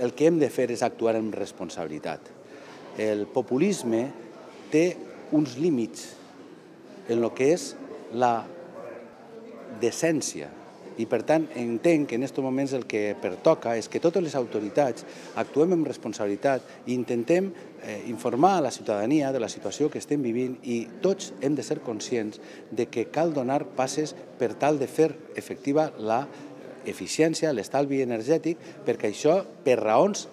el que hem de fer és actuar amb responsabilitat. El populisme té uns límits en el que és la decència. I, per tant, entenc que en aquests moments el que pertoca és que totes les autoritats actuem amb responsabilitat i intentem informar a la ciutadania de la situació que estem vivint i tots hem de ser conscients de que cal donar passes per tal de fer efectiva l'eficiència, l'estalvi energètic, perquè això, per raons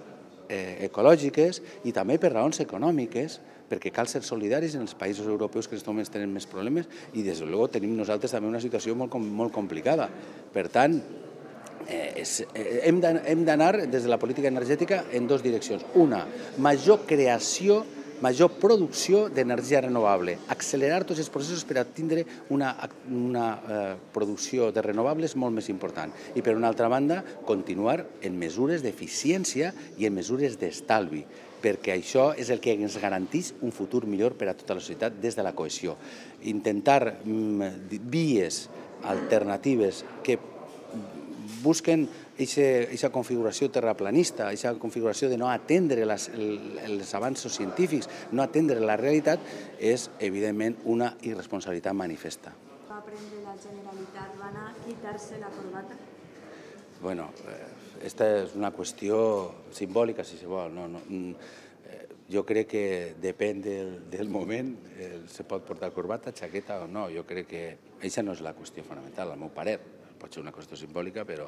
ecològiques i també per raons econòmiques, perquè cal ser solidaris en els països europeus que en aquests moments tenen més problemes i, des de luego, tenim nosaltres també una situació molt complicada. Per tant, hem d'anar des de la política energètica en dues direccions. Una, major creació, major producció d'energia renovable, accelerar tots els processos per a tindre una producció de renovables molt més important. I, per una altra banda, continuar en mesures d'eficiència i en mesures d'estalvi, perquè això és el que ens garanteix un futur millor per a tota la societat des de la cohesió. Intentar vies alternatives que busquen aquesta configuració terraplanista, aquesta configuració de no atendre els avanços científics, no atendre la realitat, és, evidentment, una irresponsabilitat manifesta. Va prendre la Generalitat, van a quitar-se la corbata? Bueno, esta és una qüestió simbòlica, si se vol. Jo crec que depèn del moment, se pot portar corbata, xaqueta o no. Jo crec que aquesta no és la qüestió fonamental, al meu parer. Pot ser una qüestió simbòlica, però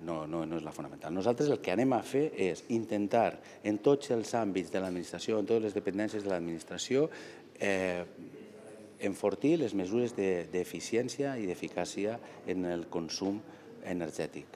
no és la fonamental. Nosaltres el que anem a fer és intentar, en tots els àmbits de l'administració, en totes les dependències de l'administració, enfortir les mesures d'eficiència i d'eficàcia en el consum energètic.